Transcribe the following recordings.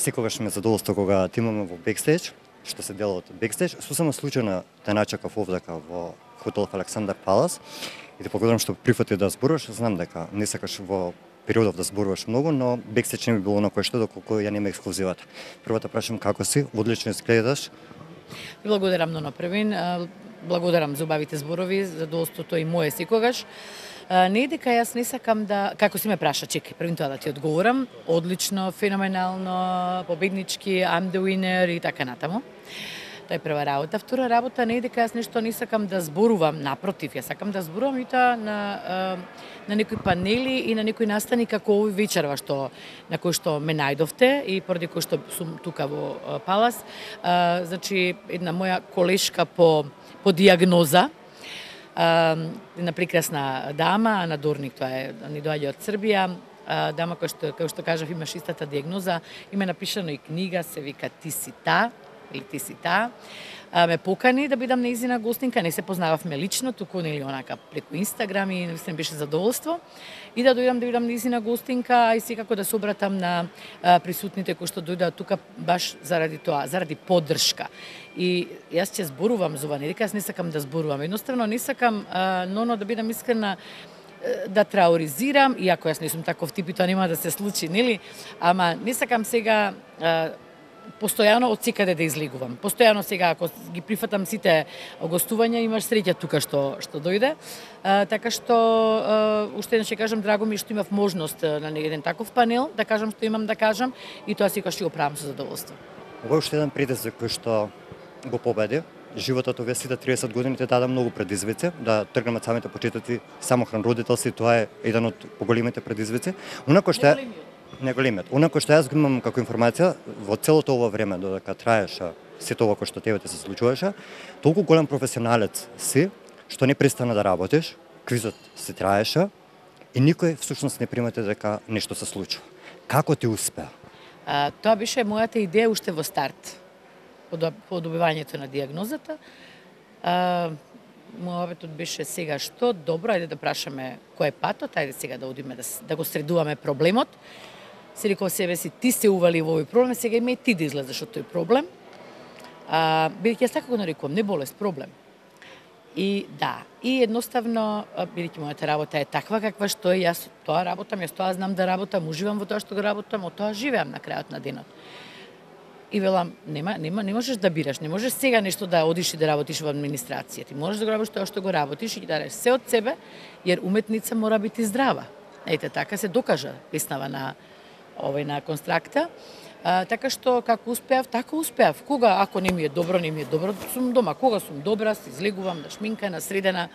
секогаш ме задоволство кога те имаме во бекстејдж, што се дела од бекстејдж. Сосема случајно те начекав овдека во хотел Александар Палас и те благодарам што прифати да зборуваш. Знам дека не сакаш во периодов да зборуваш многу, но бекстејдж не би било на кој што доколку ја нема ексклузивата. Прво да прашам како си, одлично изгледаш. Благодарам на Првин, благодарам за убавите зборови, задоволството и мое секогаш. Не е дека јас не сакам да, како си ме праша, чекај, првин тоа да ти одговорам, одлично, феноменално, победнички, I'm the winner и така натаму. Тоа е прва работа. Втора работа, не е дека јас нешто не сакам да зборувам, напротив, јас сакам да зборувам и тоа на некои панели и на некои настани како овој вечерва на кој што ме најдовте и поради кој што сум тука во Палас. Значи, една моја колешка по диагноза, една прекрасна дама, Ана Дорник, тоа е, ни доаѓа од Србија, дама која што кажав имаш истата диагноза, има напишано и книга, се вика Ти си та, или Ти си та. Ме покани да бидам нејзина гостинка, не се познававме лично, туку нели онака преку Инстаграм и наистина беше задоволство. И да дојдам да бидам нејзина гостинка, а и секако да се обратам на присутните кои што дојдат тука баш заради тоа, заради поддршка. И јас ќе зборувам за ова, не дека јас не сакам да зборувам, едноставно не сакам, но да бидам искрена, да трауризирам, иако јас не сум таков тип и тоа нема да се случи, нели? Ама не сакам сега постојано од секаде да излегувам. Постојано сега, ако ги прифатам сите гостувања, имаш среќа тука што дојде. Така што, уште еднаш ќе кажам, драго ми што имав можност на еден таков панел, да кажам што имам да кажам, и тоа секогаш ќе го правам со задоволство. Ова е уште еден предизвик кој што го победи. Животот овие сите 30 години те даде многу предизвици, да тргнеме од самите почетоци, самохран родителство, тоа е еден од поголемите предизвици. Онако што неголемиот. Онако што јас го имам како информација, во целото ова време додека траеше сето ова кој што тебе се случуваше, толку голем професионалец си, што не престана да работиш, квизот се траеше и никој всушност не примете дека нешто се случува. Како ти успеа? Тоа беше мојата идеја уште во старт, по добивањето на диагнозата. Мојот беше сега што добро, ајде да прашаме кој е патот, ајде сега да одиме да го средуваме проблемот. Се рекол себе си, ти се ували во овој проблем, сега има и ти да излезеш од тој проблем. Бидејќи јас така го нарекувам, не болест, проблем. И да, и едноставно, бидејќи мојата работа е таква каква што е, јас тоа работам, јас тоа знам да работам, уживам во тоа што го работам, од тоа живеам на крајот на денот. И велам, не можеш да бираш, не можеш сега нешто да одиш и да работиш во администрација. Ти можеш да го работиш тоа што го работиш и да дадеш се од себе, jer уметница мора бити здрава. Ете, така се докажа песнава на Констракта. Така што, како успеав, така успеав. Кога, ако не ми е добро, сум дома. Кога сум добра, се излегувам на шминкана, средена.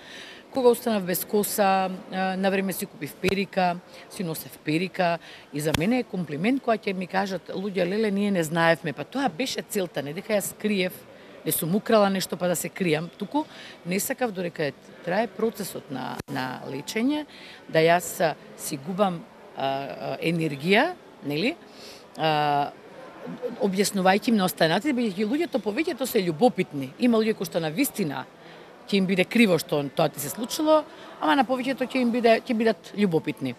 Кога останав без коса, на време си купив перика, си носев перика. И за мене е комплимент која ќе ми кажат, луѓе, леле, ние не знаевме. Па тоа беше целта, не дека јас криев, не сум украла нешто па да се кријам. Туку не сакав додека трае процесот на лечење, да јас си губам енергија, нели? Објаснувајќи им на останатите, бидејќи луѓето повеќето се љубопитни. Има луѓе кои што на вистина ќе им биде криво што тоа ти се случило, ама на повеќето ќе бидат љубопитни.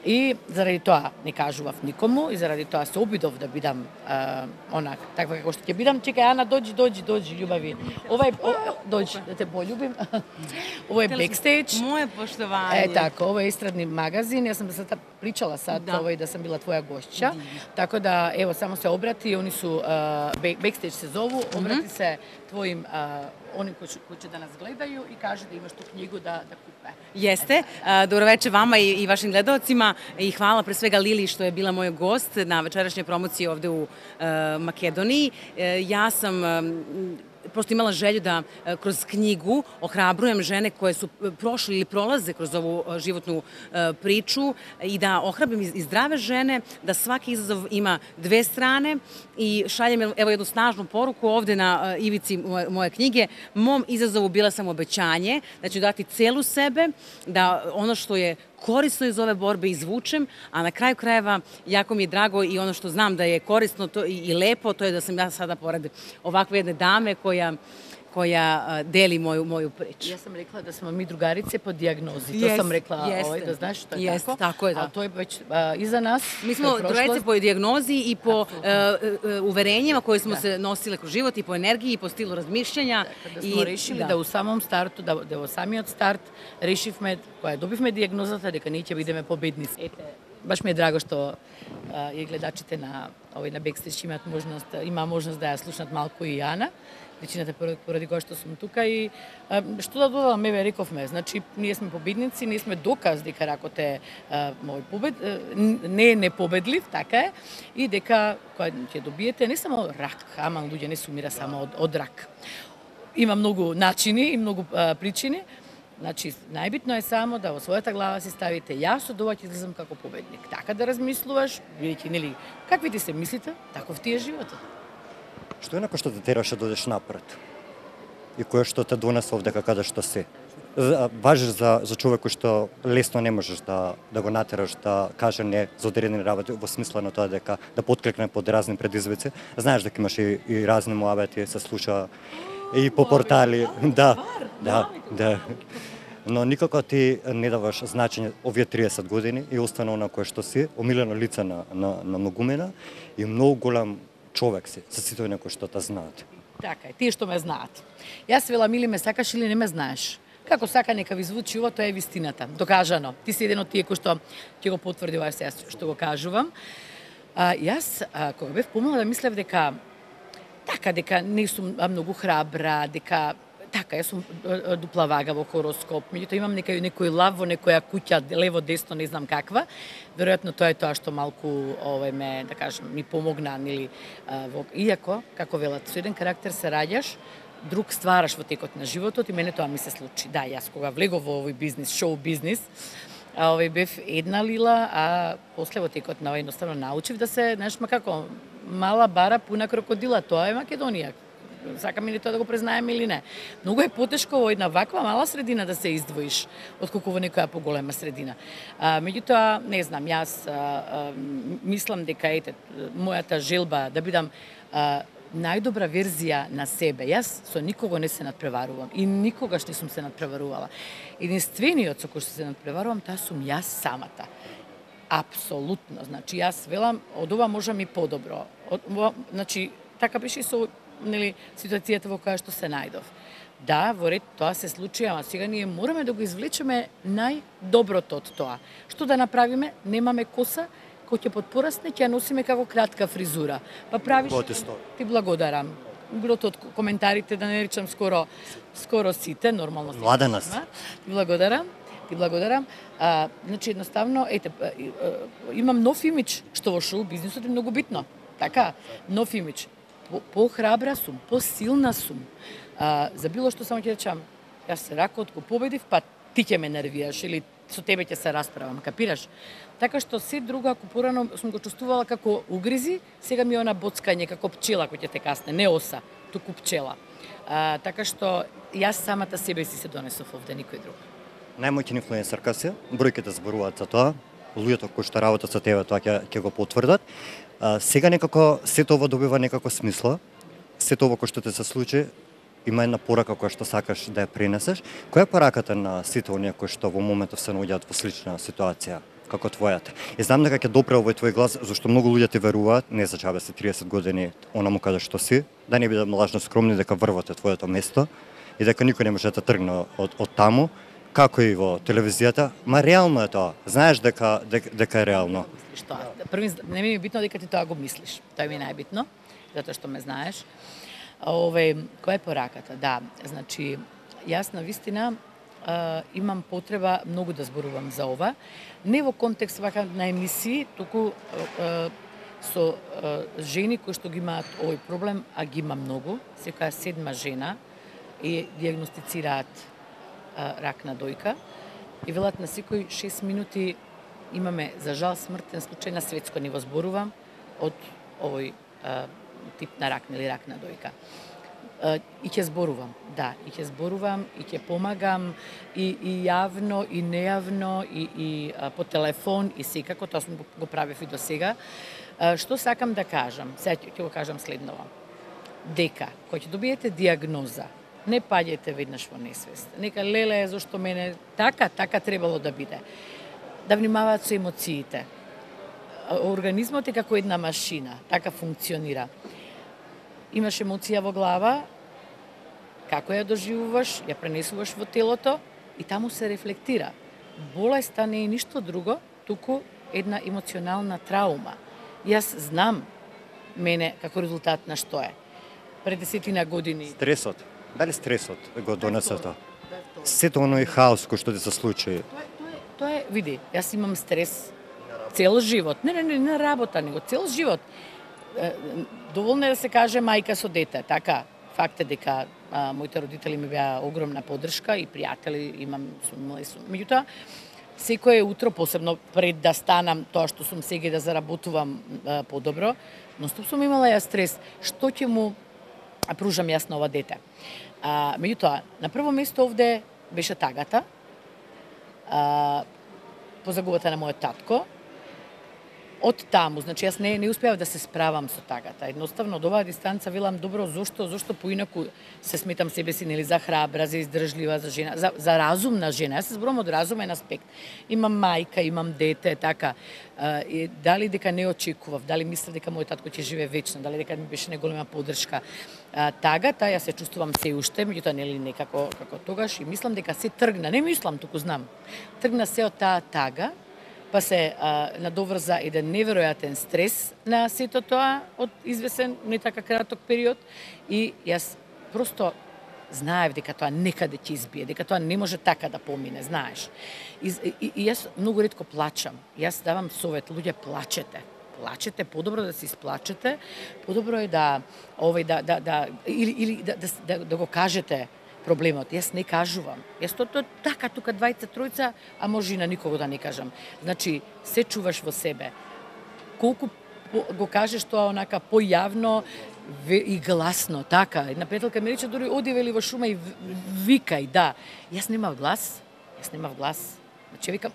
И заради тоа не кажував никому и заради тоа се обидов да бидам таква како што ќе бидам. Чекај, Ана, дојди, љубави. Дојди да те пољубим. Ова е бекстејдж. Моје поштовање. Така, ова е естрадни магазин. Јас сам причала сад да сам била твоја гостча. Така да, ево, само се обрати, они су бекстејдж се зову, обрати се твоим они кои ќе да нас гледају и кажи да имаш ту книгу да купе. Јесте. Добро вечер вама и вашим гледаоцима и хвала пред свега Лили што е била мој гост на вечерашња промоција овде у Македонiji. Јас сам просто имала želju da kroz knjigu ohrabrujem žene koje su prošle ili prolaze kroz ovu životnu priču i da ohrabrim i zdrave žene da svaki izazov ima dve strane i šaljem evo jednu snažnu poruku ovde na ivici moje knjige. Mom izazovu bila sam obećanje da ću dati celu sebe, da ono što je korisno iz ove borbe izvučem, a na kraju krajeva jako mi je drago i ono što znam da je korisno i lepo, to je da sam ja sada pored ovakve jedne dame koja koja deli moju priču. Ja sam rekla da smo mi drugarice po dijagnozi. To sam rekla, da znaš što je tako. Tako je, da. Ali to je već iza nas. Mi smo drugarice po dijagnozi i po uverenjima koje smo se nosile kroz život i po energiji i po stilu razmišljanja. Da smo rešili da u samom startu, da во самиот старт решивме, кога добивме дијагнозата, дека ние ќе бидеме победници. Ете, баш ми е драго што и гледачите на Бекстрич има можност да ја слушнат малку и Јана, вечината поради која што сум тука и што да додадам, еве рековме, значи ние сме победници, ние сме доказ дека ракот е не е непобедлив, така е, и дека кога ќе добиете не само рак, ама луѓе не се умира само од рак. Има многу начини и многу причини. Значи, најбитно е само да во својата глава си ставите јас од ова ќе излезам како победник. Така да размислуваш, бидејќи нели какви ти се мислите, таков ти е животот. Што е некој што те тераше да одеш напред? И кој што те донесе овдека каде што си? Важиш за човек кој што лесно не можеш да го натераш да каже не за одредени работи во смисла на тоа дека да потклекне под разни предизвици. Знаеш дека имаш и разни муабети, се слуша и по портали. Да. Но никако ти не даваш значење овие 30 години и остана она кое што си, омилено лице на многумина и многу голем човек си, за сите оние кои што те знаат. Така е, тие што ме знаат. Јас велам или ме сакаш или не ме знаеш. Како сака нека ви звучи ова, тоа е вистината. Докажано. Ти си еден од тие кои што ќе го потврди ова сега што го кажувам. Јас кога бев помала да мислев дека не сум многу храбра, дека јас сум дупла вага во хороскоп, меѓутоа имам некој лав во некоја куќа, лево, десно, не знам каква. Веројатно тоа е тоа што малку ме, да кажем, ми помогна, нели, иако, како велат, со еден карактер се раѓаш, друг ствараш во текот на животот и мене тоа ми се случи. Да, јас кога влегов во овој бизнис, шоу бизнис, бев една лила, а после во текот на едноставно научив да се, знаеш, како мала бара пуна крокодила, тоа е Македонија. Сакам или тоа да го признаеме или не. Многу е потешко во една ваква мала средина да се издвоиш, отколку во некоја поголема средина. Меѓутоа, не знам, јас мислам дека мојата желба да бидам најдобра верзија на себе. Јас со никого не се надпреварувам и никогаш не сум се надпреварувала. Единствениот со кој се надпреварувам, таа сум јас самата. Апсолутно. Значи, јас велам, од ова можам и подобро. Значи, така беше и со ситуацијата во која што се најдов. Да, во ред тоа се случи, ама сега ние мораме да го извлечеме најдоброто од тоа. Што да направиме? Немаме коса, кој ќе подпорасне, ќе ја носиме како кратка фризура. Па правиш... Ти благодарам. Билото од коментарите, да не речам скоро сите, нормално се. Младена си. Ти благодарам. Значи, едноставно, имам нов имидж, што во шоу бизнисот е многу битно. Така, нов имидж. По-храбра сум, по-силна сум. За било што само ќе речам, јас се ракот го победив, па ти ќе ме нервираш или со тебе ќе се расправам, капираш? Така што се друго, ако порано сум го чувствувала како угризи, сега ми е она боцкање како пчела кој ќе те касне, не оса, туку пчела. Така што јас самата себе си се донесов овде, никој друг. Најмоќен инфлуенсерка си, бројките зборуваат за тоа, луѓето кои што работат со тебе тоа ќе го потврдат. Сега некако сето ова добива некако смисла, сето ова кој што те се случи, има една порака која што сакаш да ја пренесеш. Која е пораката на сите оние кои што во моментов се наоѓаат во слична ситуација како твојата? И знам дека ќе допре овој твој глас, зашто многу луѓе ти веруваат, не за чабе си 30 години онаму каде што си, да не бидам лажно скромни дека врвате твоето место и дека никој не може да тргне од таму, како и во телевизијата, ма реално е тоа. Знаеш дека е реално. Први, не ми е битно дека ти тоа го мислиш. Тоа ми е најбитно, затоа што ме знаеш. Која е пораката? Да, значи, јас на вистина имам потреба многу да зборувам за ова. Не во контекст вака на емисии, туку со жени кои што ги имаат овој проблем, а ги има многу. Секоја 7 жена и диагностицираат рак на дојка и велат на секој 6 минути имаме, за жал, смртен случај на светско ниво, зборувам, од овој тип на рак, нели рак на дојка. И ќе зборувам, да, и ќе зборувам, и ќе помагам, и јавно, и нејавно, и по телефон, и секако, тоа сум го правев и до сега. Што сакам да кажам? Сега ќе го кажам следново. Дека, кој ќе добиете диагноза Не паѓајте веднаш во несвест. Нека леле зашто мене така требало да биде. Да внимаваат со емоциите. Организмот е како една машина, така функционира. Имаш емоција во глава, како ја доживуваш, ја пренесуваш во телото и таму се рефлектира. Болеста не е ништо друго, туку една емоционална траума. Јас знам мене како резултат на што е. Пред 10 години. Стресот. Дали стресот го донесе тоа? Сето оној хаос кој што ти се случи. Тоа е, види, јас имам стрес цел живот. Не на работа, него цел живот. Доволно е да се каже мајка со дете, така. Факт е дека моите родители ми беа огромна поддршка и пријатели имам со. Меѓутоа, секое утро, посебно пред да станам тоа што сум сега да заработувам подобро, ностоп сум имала ја стрес. Што ќе му пружам јас на ова дете? Меѓутоа, на прво место овде беше тагата, по загубата на мојот татко. Од таму, значи јас не успеав да се справам со тагата. Едноставно, од оваа дистанца велам добро, зошто поинаку се сметам себе си нели за храбра, за издржлива, за жена, за разумна жена. Јас се зборам од разумен аспект. Имам мајка, имам дете, така. Дали дека не очекував, дали мислев дека мојот татко ќе живее вечно, дали дека ми беше неголема поддршка. Тагата, јас се чувствувам се уште, меѓутоа нели некако како тогаш и мислам дека се тргна, не мислам, туку знам. Тргна се од таа тага, па се надоврза еден неверојатен стрес на сето тоа од извесен, не така краток период и јас просто знаев дека тоа некаде ќе избие, дека тоа не може така да помине, знаеш. И јас многу ретко плачам. Јас давам совет, луѓе плачете. Плачете, подобро да се исплачете, подобро е да го кажете проблемот. Јас не кажувам. Јас тоа така, тука двајца, тројца, а може и на никого да не кажам. Значи, се чуваш во себе. Колку го кажеш тоа онака појавно и гласно, така. Една пријателка ми рече, дури оди вели во шума и викај, да. Јас немав глас. Значи, викам,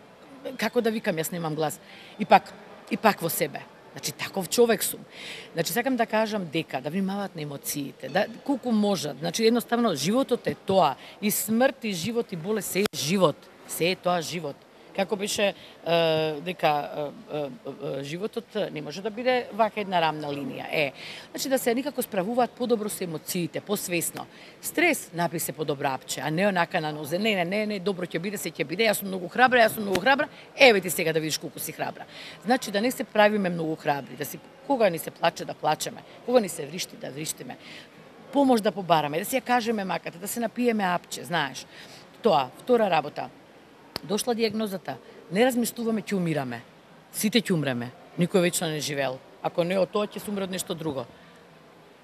како да викам, јас немам глас. И пак во себе. Значи, таков човек сум. Значи, сакам да кажам дека, да внимаваат на емоциите, да колку можат. Значи, едноставно, животот е тоа. И смрт, и живот, и болест, се е живот. Се е тоа живот. Како беше дека животот не може да биде вака една рамна линија. Значи да се никако справуваат подобро со емоциите, посвесно. Стрес напи се подобро апче, а не онака на нозе. Не, добро ќе биде, се ќе биде. Јас сум многу храбра. Еве ти сега да видиш колку си храбра. Значи да не се правиме многу храбри, да си кога ни се плаче да плачеме, кога ни се вришти да вриштиме. Помош да побараме, да си ја кажеме маката, да се напиеме апче, знаеш. Тоа, втора работа. Дошла диагнозата. Не размислуваме, ќе умираме. Сите ќе умреме. Никој вечно не живеел. Ако не од тоа, ќе се умре од нешто друго.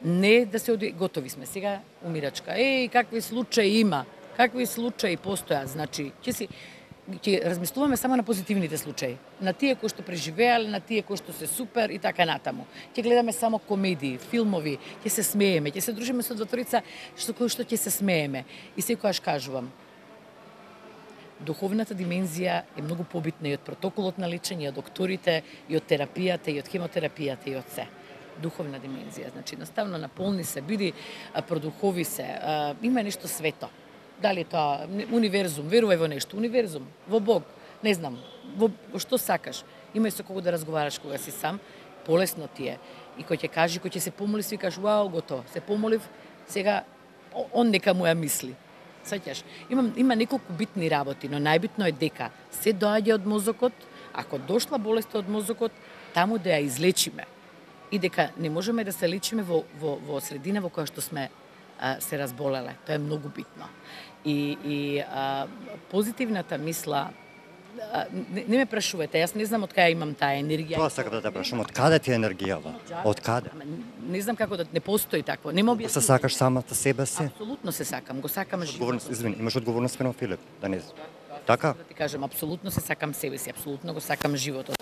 Не да се готови сме. Сега умирачка. Какви случаи има. Какви случаи постојат. Значи, ќе размислуваме само на позитивните случаи. На тие кои што преживеале, на тие кои што се супер и така натаму. Ќе гледаме само комедии, филмови, ќе се смееме, ќе се дружиме со дваторица кои што ќе се смееме. И секогаш кажувам, духовната димензија е многу побитна и од протоколот на лечење, и од докторите, и од терапијата, и од хемотерапијата, и од се. Духовна димензија, значи, наставно наполни се, биди продухови се, има нешто свето. Дали тоа универзум, верувај во нешто, универзум, во Бог, не знам, во што сакаш. Имај со кого да разговараш кога си сам, полесно ти е. И кој ќе каже, кој ќе се помоли, си кажеш, вау, готово, се помолив, сега он нека му ја мисли. Сеќаш, има неколку битни работи, но најбитно е дека се доаѓа од мозокот, ако дошла болеста од мозокот, таму да ја излечиме. И дека не можеме да се лечиме во средина во која што сме се разболеле. Тоа е многу битно. И позитивната мисла, не ме прашувате, јас не знам од кај имам таа енергија. Тоа сакам да те прашувам, од каде ти е енергијава? Од каде? Не знам како не постои такво. Не ме се сакаш самата себе си? Апсолутно се сакам, го сакам животот. Извини, имаш одговорност спрема Филип, да не. Така? Да ти кажам, апсолутно се сакам себе си, апсолутно го сакам животот.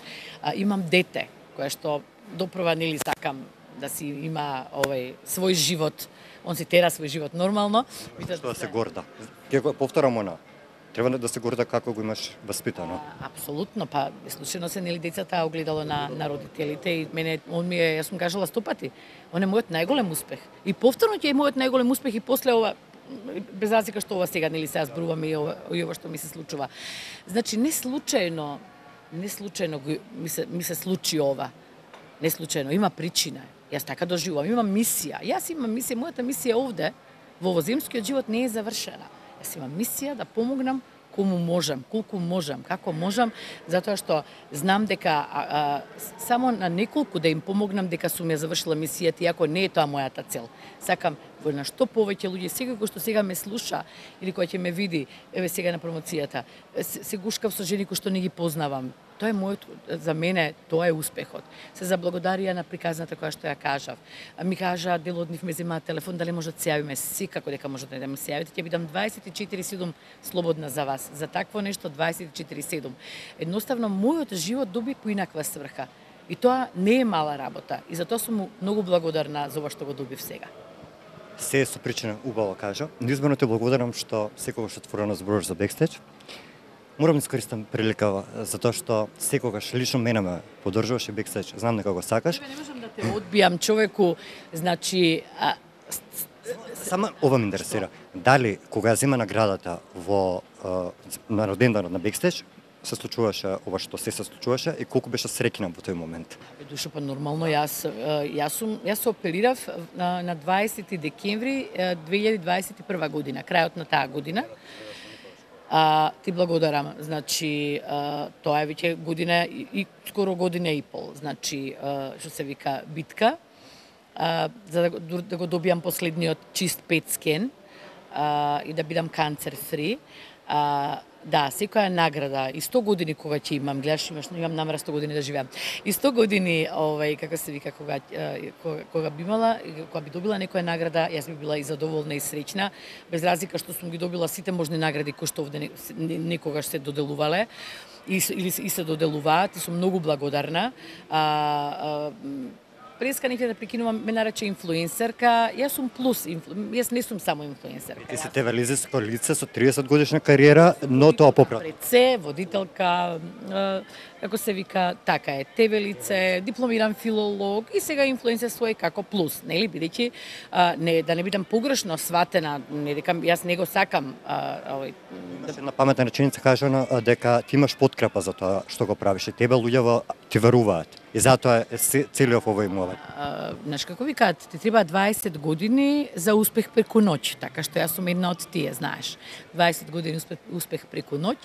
Имам дете кое што допрва нели сакам да си има свој живот. Он си тера свој живот нормално. Што да се горда. Ќе го повторам она. Треба да се горда како го имаш воспитано. Апсолутно, па случајно се нели децата огледало на родителите и мене јас сум кажала 100 пати. Он е мојот најголем успех. И повторно ќе е мојот најголем успех и после ова без разлика што ова сега нели сега зборуваме и ова што ми се случува. Значи не случајно ми се случи ова. Не случајно, има причина. Јас така доживувам, имам мисија. Јас имам мисија, мојата мисија овде во овоземскиот живот не е завршена. Јас имам мисија да помогнам кому можам, колку можам, како можам, затоа што знам дека само на неколку да им помогнам дека сум ја завршила мисијата, иако не е тоа мојата цел. Сакам во на што повеќе луѓе, секој кој што сега ме слуша или кој ќе ме види, еве сега на промоцијата, се гушкав со жени кои што не ги познавам. Тоа е за мене, тоа е успехот. Се заблагодарија на приказната која што ја кажав. Ми кажа, дел од нив ме земаат телефон, дали може да се јавиме, секако дека можете да ме се јавите, ќе бидам 24/7 слободна за вас. За такво нешто 24/7. Едноставно, мојот живот доби поинаква сврха. И тоа не е мала работа. И затоа сум многу благодарна за ова што го добив сега. Се е со причина, убаво кажа. Неизмерно те благодарам што секогаш отворено зборуваш за бекстејдж. Морам да искористам прилика затоа што секогаш лично мене ме поддржуваш и бекстејдж. Знам дека го сакаш. Не можам да те одбијам човеку, значи Само ова ме интересира. Дали кога ја зема наградата во на роденданот на бекстејдж се случуваше ова што се случуваше и колку беше среќна во тој момент? Душа, па нормално, јас се оперирав на 20 декември 2021 година, крајот на таа година. Ти благодарам. Значи, тоа е веќе година и скоро година и пол. Значи, што се вика битка, за да го добијам последниот чист пет скен и да бидам канцер фри. Да, секоја награда и 100 години кога ќе имам, гледаш, имам намера 100 години да живеам. И 100 години, како се вика, кога би имала, кога би добила некоја награда, јас би била и задоволна и среќна, без разлика што сум ги добила сите можни награди кои што овде некогаш се доделувале и се доделуваат и сум многу благодарна. Преска не ќе да прекинувам, ме нарече инфлуенсерка. Јас сум плюс, јас не сум само инфлуенсерка. Ти си телевизиско лице со 30 годишна кариера, но тоа попрат. Лице, водителка, како се вика, така е, ТВ лице, дипломиран филолог и сега инфлуенсерство е како плюс, нели, бидејќи да не бидам погрешно сватена, не дека јас не го сакам Една паметна реченица кажана дека ти имаш подкрепа за тоа што го правиш и тебе луѓето ти веруваат. И затоа е целиот овој мовет. Знаеш како викаат, ти треба 20 години за успех преку ноќ, така што јас сум една од тие, знаеш. 20 години успех преку ноќ,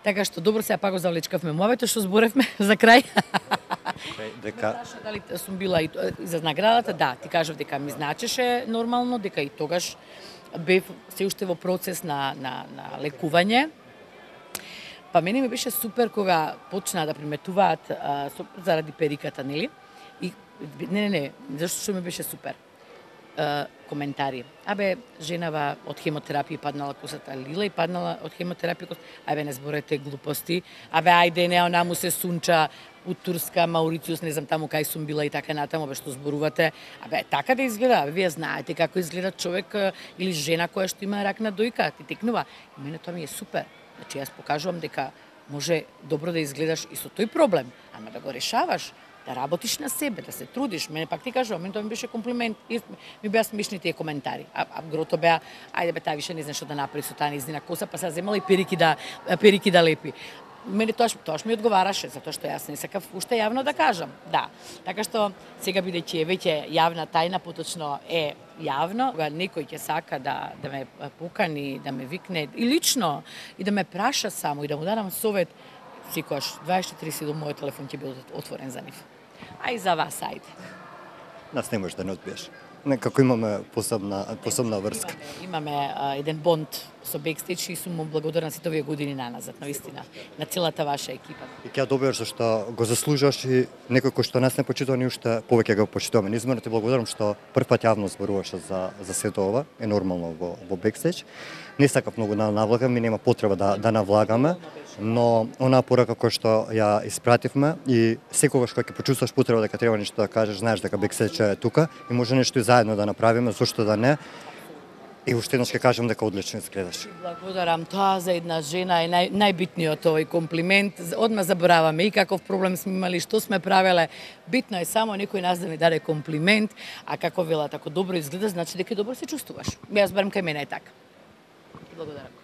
така што добро сега пак го завлечкавме мовето што зборевме за крај. Дека дали сум била и за наградата, да, ти кажав дека ми значеше нормално, дека и тогаш бев се уште во процес на лекување. Па мене ми беше супер кога почнаа да приметуваат заради периката, нели? И не, зашто што ми беше супер? Коментари. Женава од хемотерапија паднала косата, Лила и паднала од хемотерапија косата. Не зборете глупости. Ајде, не, она му се сунча у Турска, Маурициус, не знам таму кај сум била и така натаму, што зборувате. Така да изгледа. Вие знаете како изгледа човек или жена која што има рак на дојка, ти текнува. И мене тоа ми е супер. Значи, јас покажувам дека може добро да изгледаш и со тој проблем, ама да го решаваш, да работиш на себе, да се трудиш. Мене пак ти кажувам, мене тоа ми беше комплимент, ми беа смешни тие коментари. Грото беа, ајде таа више не знае што да направи со таа незнина коса, па сега земала и перики да лепи. Мене тоа ми одговараше, затоа што јас не сакав уште јавно да кажам. Да. Така што сега бидејќи е веќе јавна тајна, поточно е јавно, кога некој ќе сака да ме покани, да ме викне и лично и да ме праша само и да му дадам совет, секогаш 24/7 мојот телефон ќе биде отворен за нив. А и за вас, ајде. Нас не можеш да не одбиеш. Некако имаме посебна врска. Имаме еден бонд со бекстејдж и сум му благодарна сите овие години наназад, навистина, на целата ваша екипа. И ќе добиеш зашто го заслужуваш и некој кој што нас не почитува ни уште повеќе го почитуваме. Неизмерно ти благодарам што прв пат јавно зборуваш за сето ова, е нормално во бекстејдж. Не сакав многу да навлагам и нема потреба да навлагаме, но онаа порака која што ја испративме и секогаш кога ќе почувствуваш потреба дека треба нешто да кажеш, знаеш дека бекстејдж е тука и може нешто и заедно да направиме, зошто да не. И уште еднаш ќе кажам дека одлично изгледаш. Благодарам, тоа за една жена е најбитниот овој комплимент. Одма забораваме и каков проблем сме имали, што сме правеле. Битно е само некој нас да ми даде комплимент, а како велат, ако добро изгледаш, значи дека добро се чувствуваш. Јас барем кај мене е така. Благодарам.